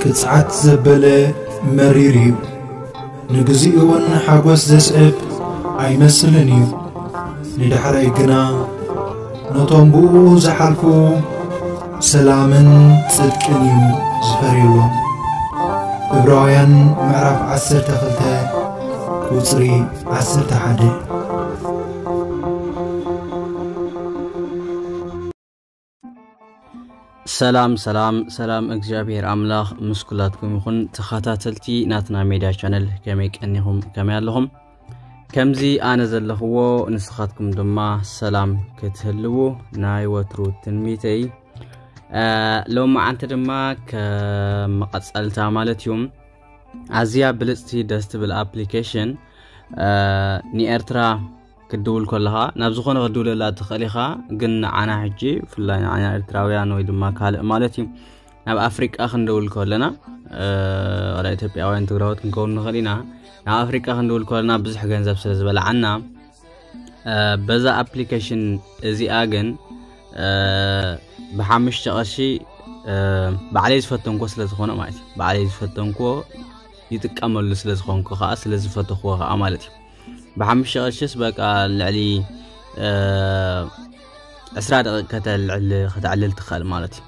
ብጽዓት ዘበለ መሪር እዩ። ንግዚኡ እውን ሓጎስ ዘስዕብ ኣይመስልን እዩ። ንዳሕራይ ግና ነቶም ብኡ ዝሓልፉ ሰላምን ጽድቅን እዩ ዝፈርየሎም። ዕብራውያን ምዕራፍ ዓሰርተ ክልተ ቁጽሪ ዓሰርተ ሓደ። ሰላም ሰላም ሰላም፣ እግዚኣብሔር ኣምላኽ ምስ ኩላትኩም ይኹን። ተኸታተልቲ ናትና ሜድያ ቻነል ከመይ ቀኒኹም? ከመይ ኣለኹም? ከምዚ ኣነ ዘለኽዎ ንስኻትኩም ድማ ሰላም ክትህልዉ ናይ ወትሩ ትንቢተይ። ሎማዓንቲ ድማ ከም መቐጸልታ ማለት እዩ፣ ኣዝያ ብልጽቲ ደስ ትብል ኣፕሊኬሽን ንኤርትራ ክትድውል ከለኻ ናብ ዝኾነ ክትድውለላ ትኽእል ኢኻ። ግን ንዓና ሕጂ ብፍላይ ንዓና ኤርትራውያን ወይ ድማ ካልእ ማለት እዩ ናብ ኣፍሪቃ ክንደውል ከለና፣ ወላ ኢትዮጵያውያን ትግራዎት ክንከውን ንኽእል ኢና። ናብ ኣፍሪቃ ክንደውል ከለና ብዙሕ ገንዘብ ስለ ዝበልዓና፣ በዛ ኣፕሊኬሽን እዚኣ ግን ብሓሙሽተ ቅርሺ ባዕለይ ዝፈተንኮ ስለ ዝኾነ ማለት እዩ፣ ባዕለይ ዝፈተንኮ ይጥቀመሉ ስለ ዝኾንኩ ከዓ ስለ ዝፈተኽዎ ከዓ ማለት እዩ። ብሓሙሽተ ቅርሽስ በቃ ልዕሊ ዕስራ ደቂቕ ከተልዕል ከተዕልል ትኽእል ማለት እዩ።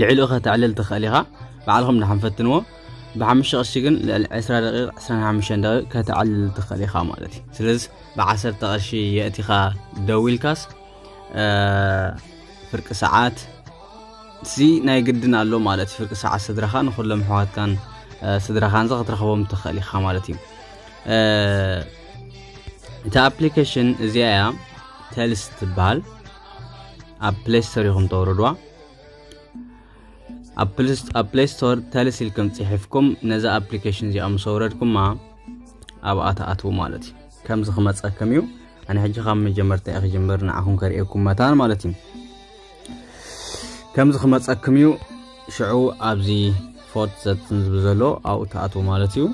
ልዕሊኡ ከተዕልል ትኽእል ኢኻ። ባዕልኹም ድሓን ፈትንዎ። ብሓሙሽተ ቅርሺ ግን ልዕሊ ዕስራ ደቂቕ ዕስራን ሓሙሽተን ደቂቕ ከተዕልል ትኽእል ኢኻ ማለት እዩ። ስለዚ ብዓሰርተ ቅርሺ የእቲኻ ደዊልካስ ፍርቂ ሰዓት እዚ ናይ ግድን ኣሎ ማለት እዩ። ፍርቂ ሰዓት ስድራኻ ንኩሎም ኣሕዋትካን ስድራኻን ክትረኽቦም ትኽእል ኢኻ ማለት እዩ። እታ ኣፕሊኬሽን እዚኣ እያ፣ ተልስ ትበሃል። ኣብ ፕሌይ ስቶር ኢኹም ተውርድዋ። ኣብ ፕሌይ ስቶር ተልስ ኢልኩም ጽሒፍኩም ነዛ ኣፕሊኬሽን እዚኣ ምስ ኣውረድኩማ ኣብኣ ትኣትዉ ማለት እዩ። ከምዚ ክመጸኩም እዩ። ኣነ ሕጂ ካብ መጀመርታ እየ ክጅምር ንዓኹም ከርእየኩም መታን ማለት እዩ። ከምዚ ክመጸኩም እዩ። ሽዑ ኣብዚ ፎርት ዘትን ዝብል ዘሎ ኣብኡ ትኣትዉ ማለት እዩ።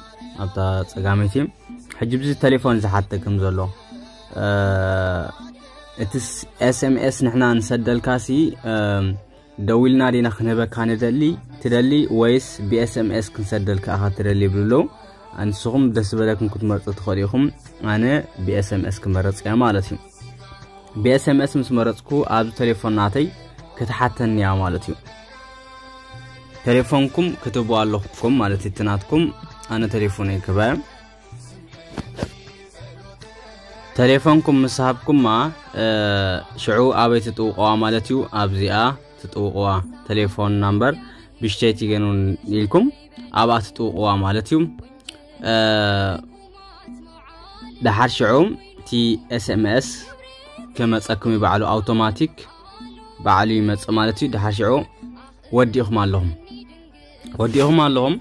ኣብታ ጸጋመይቲ ሕጂ ብዚ ቴሌፎን ዝሓተክም ዘሎ እቲ ኤስኤምኤስ ንሕና ንሰደልካሲ ደዊልና ዲና ክንህበካ ንደሊ ትደሊ ወይስ ብኤስኤምኤስ ክንሰደልካ ኢኻ ትደሊ ይብሉ ኣለዉ። ንስኹም ደስ ዝበለኩም ክትመርጹ ትኽእሉ ኢኹም። ኣነ ብኤስኤምኤስ ክመረጽ እየ ማለት እዩ። ብኤስኤምኤስ ምስ መረጽኩ ኣብዚ ቴሌፎን ናተይ ክትሓተኒ እያ ማለት እዩ። ቴሌፎንኩም ክትህቡ ኣለኩም ማለት እዩ። እቲ ናትኩም ኣነ ቴሌፎነይ ክህባ እየ። ቴሌፎንኩም ምስ ሃብኩማ ሽዑ ኣበይ ትጥውቕዋ ማለት እዩ። ኣብዚኣ ትጥውቕዋ ቴሌፎን ናምበር ብሽተይ ትገኑን ኢልኩም ኣብኣ ትጥውቕዋ ማለት እዩ። ደሓር ሽዑ እቲ ኤስኤምኤስ ክመጸኩም እዩ፣ ባዕሉ ኣውቶማቲክ ባዕሉ ይመጽእ ማለት እዩ። ደሓር ሽዑ ወዲእኹም ኣለኹም ወዲእኹም ኣለኹም።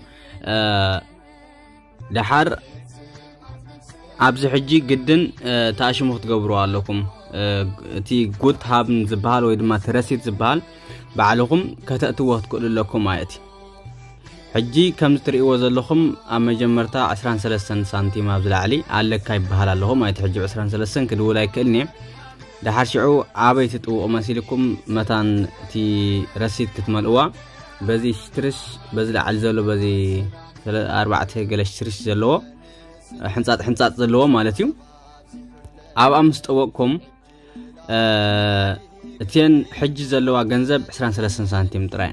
ደሓር ኣብዚ ሕጂ ግድን ተኣሽሙ ክትገብሩ ኣለኩም። እቲ ጉት ሃብን ዝበሃል ወይ ድማ እቲ ረሲት ዝበሃል ባዕልኹም ከተእትዎ ክትክእሉ ኣለኩም ማለት እዩ። ሕጂ ከምዚ ትርእይዎ ዘለኹም ኣብ መጀመርታ ዕስራን ሰለስተን ሳንቲም ኣብዚ ላዕሊ ኣለካ ይበሃል ኣለኹ ማለት እዩ። ሕጂ ዕስራን ሰለስተን ክድውል ኣይክእልን እየ። ደሓር ሽዑ ኣበይ ትጥውቑ መሲልኩም መታን እቲ ረሲት ክትመልእዋ በዚ ሽትርሽ በዚ ላዕሊ ዘሎ በዚ ኣርባዕተ ገለ ሽትርሽ ዘለዎ ሕንጻጥ ሕንጻጥ ዘለዎ ማለት እዩ። ኣብኣ ምስ ጠወቅኩም እቲን ሕጂ ዘለዋ ገንዘብ ዕስራን ሰለስተን ሳንቲም ጥራይ።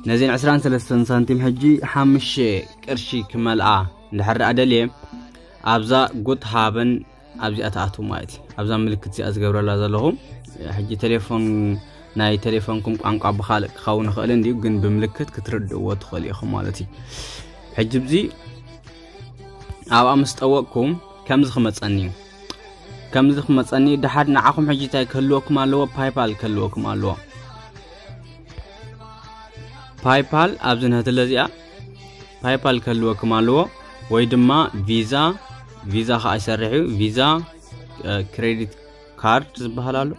ነዚን ዕስራን ሰለስተን ሳንቲም ሕጂ ሓሙሽተ ቅርሺ ክመልኣ እንድሕር ደኣ ደልየ ኣብዛ ጉት ሃበን ኣብዚኣ ትኣትዉ ማለት እዩ። ኣብዛ ምልክት እዚኣ ዝገብረላ ዘለኹ ሕጂ ቴሌፎን ናይ ቴሌፎንኩም ቋንቋ ብኻልእ ክኸውን ይኽእል እንድዩ፣ ግን ብምልክት ክትርድእዎ ትኽእሉ ኢኹም ማለት እዩ። ሕጂ ብዚ ኣብኣ ምስ ጠወቅኩም ከምዚ ክመፀኒ እዩ። ከምዚ ክመፀኒ ደሓር ንዓኹም ሕጂ እንታይ ክህልወኩም ኣለዎ? ፓይፓል ክህልወኩም ኣለዎ። ፓይፓል ኣብዚ ንህትለ እዚኣ ፓይፓል ክህልወኩም ኣለዎ፣ ወይ ድማ ቪዛ፣ ቪዛ ከዓ ይሰርሕ እዩ። ቪዛ ክሬዲት ካርድ ዝበሃል ኣሎ፣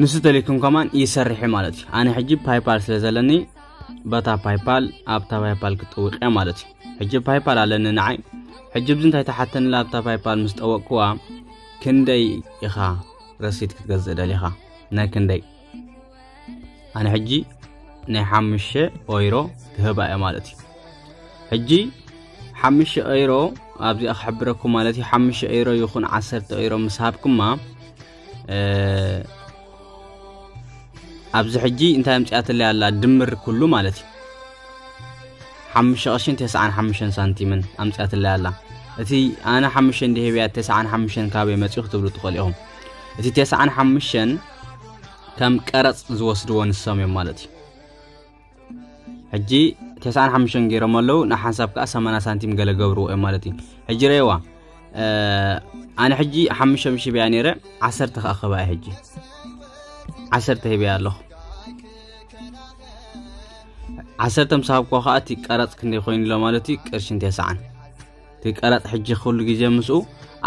ንሱ ተሊኩም ከማን ይሰርሕ ማለት እዩ። ኣነ ሕጂ ፓይፓል ስለ ዘለኒ በታ ፓይፓል ኣብታ ፓይፓል ክጥውቅ እየ ማለት እዩ። ሕጂ ፓይፓል ኣለኒ ንዓይ። ሕጂ ብዚ እንታይ ተሓተንላ ኣብታ ፓይፓል ምስ ጠወቅኩዋ ክንደይ ኢኻ ረሲት ክትገዝእ ደሊኻ? ናይ ክንደይ? ኣነ ሕጂ ናይ ሓሙሽተ ኦይሮ ክህባ እየ ማለት እዩ። ሕጂ ሓሙሽተ ኦይሮ ኣብዚኣ ክሕብረኩም ማለት እዩ። ሓሙሽተ ኦይሮ ይኹን ዓሰርተ ኦይሮ ምስ ሃብኩማ ኣብዚ ሕጂ እንታይ ኣምፅኣትለይ ኣላ? ድምር ኩሉ ማለት እዩ። ሓሙሽተ ቅርሽን ተስዓን ሓሙሽተን ሳንቲምን ኣምፅኣትለይ ኣላ። እቲ ኣነ ሓሙሽተ እንዲህብያ ተስዓን ሓሙሽተን ካበይ መፂኡ ክትብሉ ትኽእሉ ኢኹም። እቲ ተስዓን ሓሙሽተን ከም ቀረፅ ዝወስድዎ ንሶም እዮም ማለት እዩ። ሕጂ ተስዓን ሓሙሽተን ገይሮም ኣለዉ። ንሓንሳብ ከዓ ሰማንያ ሳንቲም ገለ ገብርዎ እዮም ማለት እዩ። ሕጂ ረይዋ ኣነ ሕጂ ሓሙሽተ ሽብያ ነይረ፣ ዓሰርተ ከዓ ክህባ እየ። ሕጂ ዓሰርተ ሂበያ ኣለኹ። ዓሰርተ ምስ ሃብኩዋ ከዓ እቲ ቀረፅ ክንደይ ኮይኑ ኣሎ ማለት እዩ? ቅርሽን ተስዓን። እቲ ቀረፅ ሕጂ ኩሉ ግዜ ምስኡ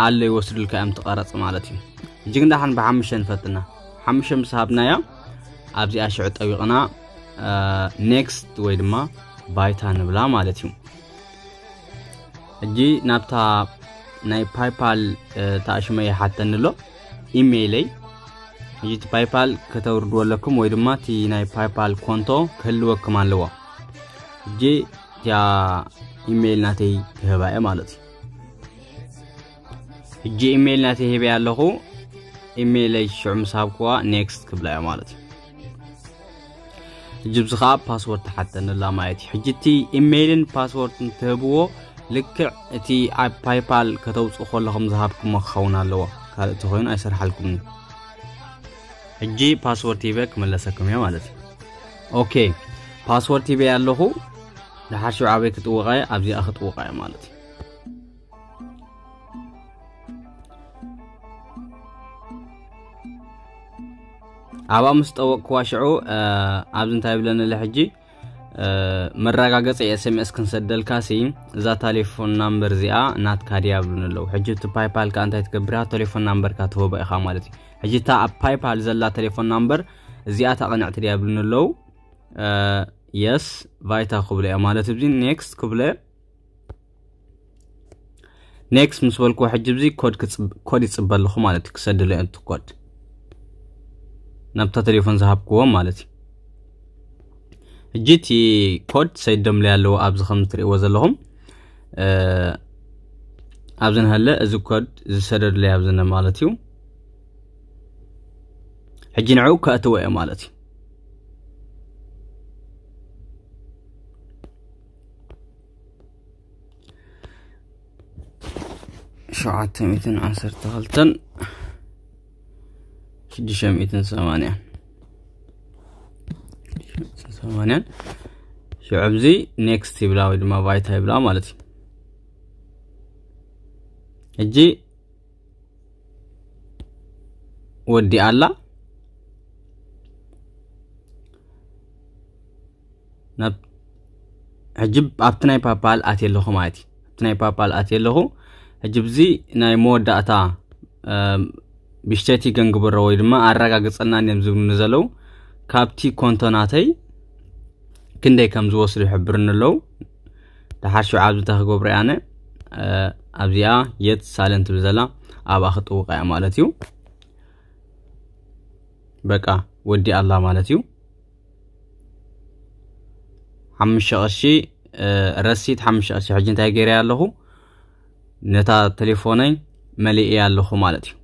ኣሎ ይወስዱልካ እዮም እቲ ቀረፅ ማለት እዩ። ሕጂ ግን ደሓን ብሓሙሽተ ንፈትና። ሓሙሽተ ምስ ሃብናያ ኣብዚኣ ሽዑ ጠቢቕና ኔክስት ወይ ድማ ባይታ ንብላ ማለት እዩ። ሕጂ ናብታ ናይ ፓይፓል ተኣሽመ ይሓተኒ ኣሎ ኢሜይለይ። ሕጂ እቲ ፓይፓል ከተውርድዎ ኣለኩም ወይ ድማ እቲ ናይ ፓይፓል ኮንቶ ክህልወኩም ኣለዎ። ሕጂ እቲኣ ኢሜይል ናተይ ክህባ እየ ማለት እዩ። ሕጂ ኢሜይል ናተይ ሂበያ ኣለኹ። ኢሜይለይ ሽዑ ምስ ሃብኩዋ ኔክስት ክብላ እየ ማለት እዩ። ሕጂ ብዚ ከዓ ፓስወርድ ትሓተኒ ኣላ ማለት እዩ። ሕጂ እቲ ኢሜይልን ፓስወርድን ትህብዎ ልክዕ እቲ ኣብ ፓይፓል ከተውፅኡ ከለኹም ዝሃብኩሞ ክኸውን ኣለዎ። ካልእ ተኮይኑ ኣይሰርሓልኩም እዩ። ሕጂ ፓስወርድ ሂበ ክመለሰኩም እየ ማለት እዩ። ኦኬ ፓስወርድ ሂበ ኣለኹ። ድሓር ሽዑ ኣበይ ክጥውቃ እየ? ኣብዚኣ ክጥውቃ እየ ማለት እዩ። ኣብኣ ምስ ጠወቅኩዋ ሽዑ ኣብዚ እንታይ ይብለኒ ኣሎ ሕጂ? መረጋገፂ ኤስኤምኤስ ክንሰደልካ ሲ እዛ ታሌፎን ናምበር እዚኣ ናትካ ድያ ብሉን ኣለዉ። ሕጂ እቲ ፓይፓል ከዓ እንታይ ትገብር እያ? ቴሌፎን ናምበርካ ትህቦ ኢኻ ማለት እዩ። ሕጂ እታ ኣብ ፓይፓል ዘላ ቴሌፎን ናምበር እዚኣ እታ ቅንዕቲ ድያ ብሉን ኣለዉ። የስ ቫይታ ክብሎ እያ ማለት እዚ ኔክስት ክብሎ። ኔክስት ምስ በልኩዎ ሕጂ እዚ ኮድ ክፅብ- ኮድ ይፅበ ኣለኹ ማለት እዩ። ክሰድሎ እየ እቲ ኮድ ናብታ ቴሌፎን ዝሃብክዎም ማለት እዩ። ሕጂ እቲ ኮድ ሰይዶምለይ ኣለዎ ኣብዚ ከም እትርእይዎ ዘለኹም ኣብዚ ንሃለ እዚ ኮድ ዝሰደድለይ ኣብዚ ነ ማለት እዩ። ሕጂ ንዕኡ ከእትዎ እየ ማለት እዩ። ሸውዓተ ሚእትን ዓሰርተ ክልተን ሽዱሽተ ሚእትን ሰማንያን ሰማንያን ሽዑ ኣብዚ ኔክስት ይብላ ወይ ድማ ቫይታ ይብላ ማለት እዩ። ሕጂ ወዲ ኣላ ናብ ሕጂ ኣብቲ ናይ ፓፓል ኣትየ ኣለኹ ማለት እዩ። ኣብቲ ናይ ፓፓል ኣትየ ኣለኹ። ሕጂ ብዚ ናይ መወዳእታ ብሽተቲ ገንግበሮ ወይ ድማ ኣረጋግፀልና እዮም ዝብሉኒ ዘለዉ። ካብቲ ኮንቶ ናተይ ክንደይ ከም ዝወስዱ ይሕብርኒ ኣለዉ። ድሓር ሽዑ ኣብዚ እንታይ ክገብሮ እየ ኣነ ኣብዚኣ የት ሳለን ትብል ዘላ ኣብኣ ክጥውቃ እያ ማለት እዩ። በቃ ወዲ ኣላ ማለት እዩ። ሓሙሽተ ቅርሺ ረሲት ሓሙሽተ ቅርሺ ሕጂ እንታይ ገይረ ኣለኹ ነታ ቴሌፎነይ መሊእ ኣለኹ ማለት እዩ።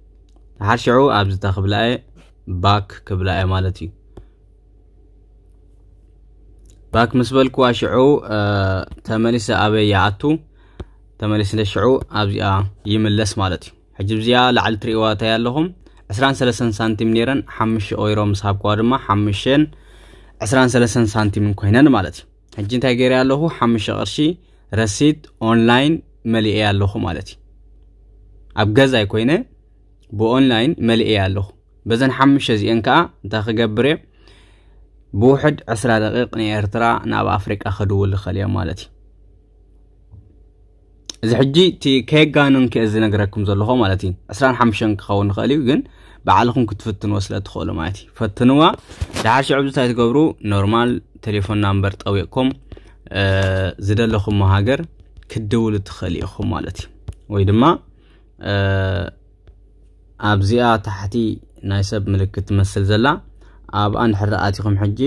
ድሓር ሽዑ ኣብዚ እንታይ ክብላ እየ ባክ ክብላ እየ ማለት እዩ። ባክ ምስ በልኩዋ ሽዑ ተመሊሰ ኣበይ ይኣቱ ተመሊስለ ሽዑ ኣብዚኣ ይምለስ ማለት እዩ። ሕጂ ብዚኣ ላዕሊ ትርእይዋ እንታይ ኣለኹም ዕስራን ሰለስተን ሳንቲም ነይረን ሓሙሽተ ኦይሮ ምስ ሃብኩዋ ድማ ሓሙሽተን ዕስራን ሰለስተን ሳንቲምን ኮይነን ማለት እዩ። ሕጂ እንታይ ገይረ ኣለኹ ሓሙሽተ ቅርሺ ረሲት ኦንላይን መሊኤ ኣለኹ ማለት እዩ። ኣብ ገዛይ ኮይነ ብኦንላይን መሊኤ ኣለኹ። በዘን ሓሙሽተ እዚአን ከዓ እንታይ ክገብር እየ ብውሕድ ዕስራ ደቂቕ ንኤርትራ ናብ ኣፍሪቃ ክድውል ይኽእል እየ ማለት እዩ። እዚ ሕጂ እቲ ከየጋንን ክየ ዝነግረኩም ዘለኹ ማለት እዩ። ዕስራን ሓሙሽተን ክኸውን ይኽእል እዩ ግን ባዕልኹም ክትፍትንዎ ስለ ትኽእሉ ማለት እዩ። ፈትንዋ። ድሓር ሽዑ እንታይ ትገብሩ ኖርማል ቴሌፎን ናምበር ጠዊቕኩም ዝደለኹሞ ሃገር ክትድውሉ ትኽእል ኢኹም ማለት እዩ። ወይ ድማ ኣብዚኣ ታሕቲ ናይ ሰብ ምልክት ትመስል ዘላ ኣብኣ እንድሕር ኣቲኹም ሕጂ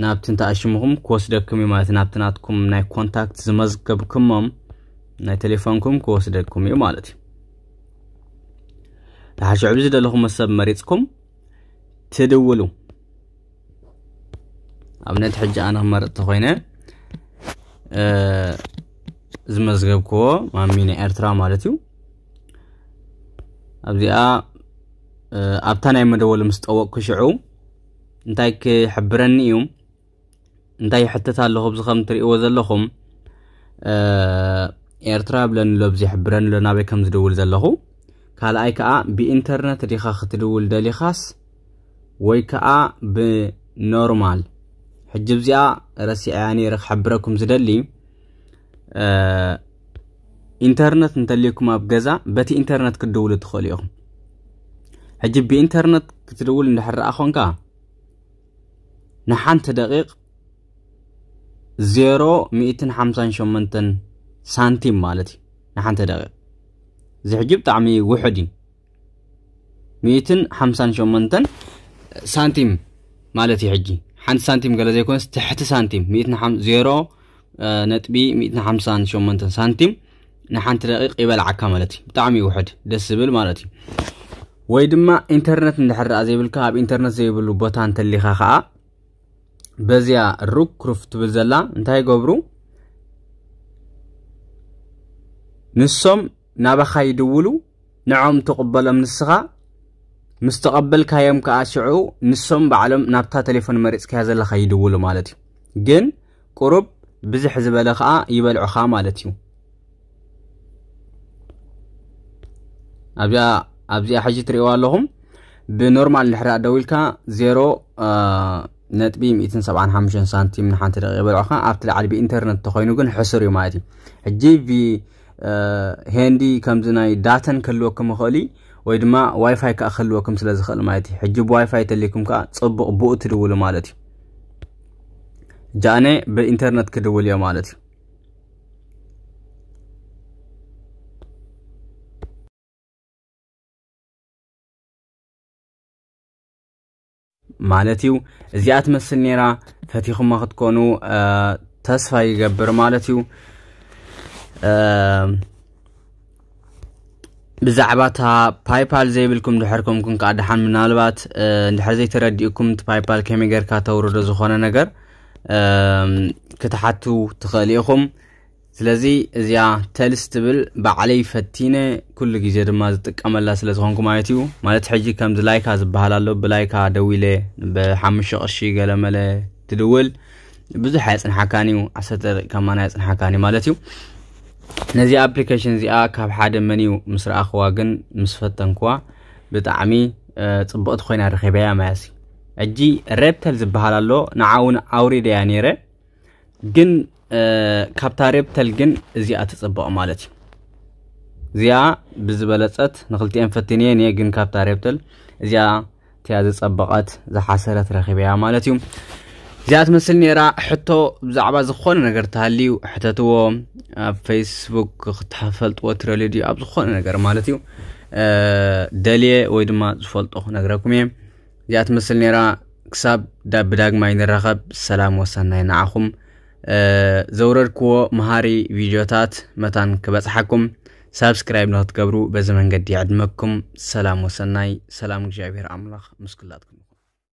ናብቲ እንተኣሽምኹም ክወስደኩም እዩ ማለት ናብቲ ናትኩም ናይ ኮንታክት ዝመዝገብኩሞም ናይ ቴሌፎንኩም ክወስደኩም እዩ ማለት እዩ። ተሓሽዑ ዝደለኹም ሰብ መሪፅኩም ትድውሉ። ኣብነት ሕጂ ኣነ ክመርጥ ተኮይነ ዝመዝገብክዎ ማሚ ናይ ኤርትራ ማለት እዩ። ኣብዚኣ ኣብታ ናይ መደወሊ ምስ ጠወቅኩ ሽዑ እንታይ ክሕብረኒ እዩ? እንታይ ይሕትት ኣለኹ? ኣብዚ ከም ትርእይዎ ዘለኹም ኤርትራ ብለኒ ኣሎ፣ ኣብዚ ይሕብረኒ ኣሎ ናበይ ከም ዝድውል ዘለኹ። ካልኣይ ከዓ ብኢንተርነት ዲኻ ክትድውል ደሊኻስ ወይ ከዓ ብኖርማል? ሕጂ ኣብዚኣ ረሲዐያ ነይረ ክሕብረኩም ዝደሊ ኢንተርነት እንተልዩኩም ኣብ ገዛ በቲ ኢንተርነት ክትድውሉ ትኽእሉ ኢኹም። ሕጂ ብኢንተርነት ክትድውል እንድሕር ደኣ ኮንካ ንሓንቲ ደቂቕ ዜሮ ሚእትን ሓምሳን ሸሞንተን ሳንቲም ማለት እዩ። ንሓንቲ ደቂቕ እዚ ሕጂ ብጣዕሚ ውሑድ እዩ። ሚእትን ሓምሳን ሸሞንተን ሳንቲም ማለት እዩ። ሕጂ ሓንቲ ሳንቲም ገለ ዘይኮነስ ትሕቲ ሳንቲም ሚእትን ሓም- ዜሮ ነጥቢ ሚእትን ሓምሳን ሸሞንተን ሳንቲም ንሓንቲ ደቂቕ ይበልዓካ ማለት እዩ። ብጣዕሚ ውሕድ ደስ ዝብል ማለት እዩ። ወይ ድማ ኢንተርነት እንድሕር ደኣ ዘይብልካ ኣብ ኢንተርነት ዘይብሉ ቦታ እንተሊኻ ከዓ በዚያ ሩክ ሩፍ ትብል ዘላ እንታይ ይገብሩ? ንሶም ናባኻ ይድውሉ፣ ንዖም ትቕበሎም ንስኻ ምስ ተቐበልካዮም ከዓ ሽዑ ንሶም ባዕሎም ናብታ ቴሌፎን መሪፅካያ ዘለኻ ይድውሉ ማለት እዩ። ግን ቁሩብ ብዝሕ ዝበለ ከዓ ይበልዑኻ ማለት እዩ። ኣብዚኣ ኣብዚኣ ሕጂ ትርእይዋ ኣለኹም ብኖርማል እንድሕር ደዊልካ ዜሮ ነጥቢ ሚእትን ሰብዓን ሓሙሽተን ሳንቲም ንሓንቲ ደቂቕ ይበልዑኻ። ኣብቲ ላዕሊ ብኢንተርነት ተኾይኑ ግን ሕሱር እዩ ማለት እዩ። ሕጂ ቪ- ሄንዲ ከምዚ ናይ ዳተን ክህልወኩም ይኽእል እዩ ወይ ድማ ዋይፋይ ከዓ ክህልወኩም ስለ ዝኽእል ማለት እዩ። ሕጂ ብዋይፋይ ተሊኩም ከዓ ፅቡቕ ብኡ ትድውሉ ማለት እዩ። ጃነ ብኢንተርነት ክድውል እዮ ማለት እዩ። ማለት እዩ። እዚኣ ትመስል ነይራ። ፈቲኹማ ክትኮኑ ተስፋ ይገብር ማለት እዩ። ብዛዕባ እታ ፓይፓል ዘይብልኩም ድሕር ኮምኩም ከዓ ደሓን ምናልባት እንድሕር ዘይተረዲእኩም እቲ ፓይፓል ከመይ ጌርካ ተውርዶ ዝኾነ ነገር ክትሓቱ ትኽእል ኢኹም። ስለዚ እዚኣ ተልስ ትብል ባዕለይ ፈቲነ ኩሉ ግዜ ድማ ዝጥቀመላ ስለ ዝኾንኩ ማለት እዩ። ማለት ሕጂ ከምዚ ላይካ ዝበሃል ኣሎ፣ ብላይካ ደዊለ ብሓሙሽተ ቅርሺ ገለመለ ትድውል ብዙሕ ኣየፅንሓካን እዩ፣ ዓሰርተ ደቂቃ ማን ኣየፅንሓካን እዩ ማለት እዩ። ነዚ ኣፕሊኬሽን እዚኣ ካብ ሓደ መን እዩ ምስ ረኣኽዋ ግን ምስ ፈተንክዋ ብጣዕሚ ፅብቕቲ ኮይና ረኺበያ ማያሲ። ሕጂ ሬፕተል ዝበሃል ኣሎ፣ ንዓ እውን ኣውሪደያ ነይረ ግን ካብታ ሬፕተል ግን እዚኣ ትፅብቕ ማለት እዩ። እዚኣ ብዝበለፀት ንክልቲኤን ፈትንየ እየ ግን ካብታ ሬፕተል እዚኣ እቲያ ዝፀበቐት ዝሓሰረት ረኺበያ ማለት እዩ። እዚኣ ትመስል ነይራ። ሕቶ ብዛዕባ ዝኾነ ነገር ተሃልዩ ሕተትዎ። ኣብ ፌስቡክ ክትፈልጥዎ ትረልዩ ድዩ ኣብ ዝኾነ ነገር ማለት እዩ። ደልየ ወይ ድማ ዝፈልጦ ክነግረኩም እየ። እዚኣ ትመስል ነይራ። ክሳብ ዳ- ብዳግማይ ንራኸብ ሰላም ወሰናይ ንዓኹም። ዘውረድክዎ መሃሪ ቪድዮታት መታን ክበፅሓኩም ሳብስክራይብ ንክትገብሩ በዚ መንገዲ ይዕድመኩም። ሰላም ወሰናይ። ሰላም እግዚኣብሔር ኣምላኽ ምስ ኩላትኩም።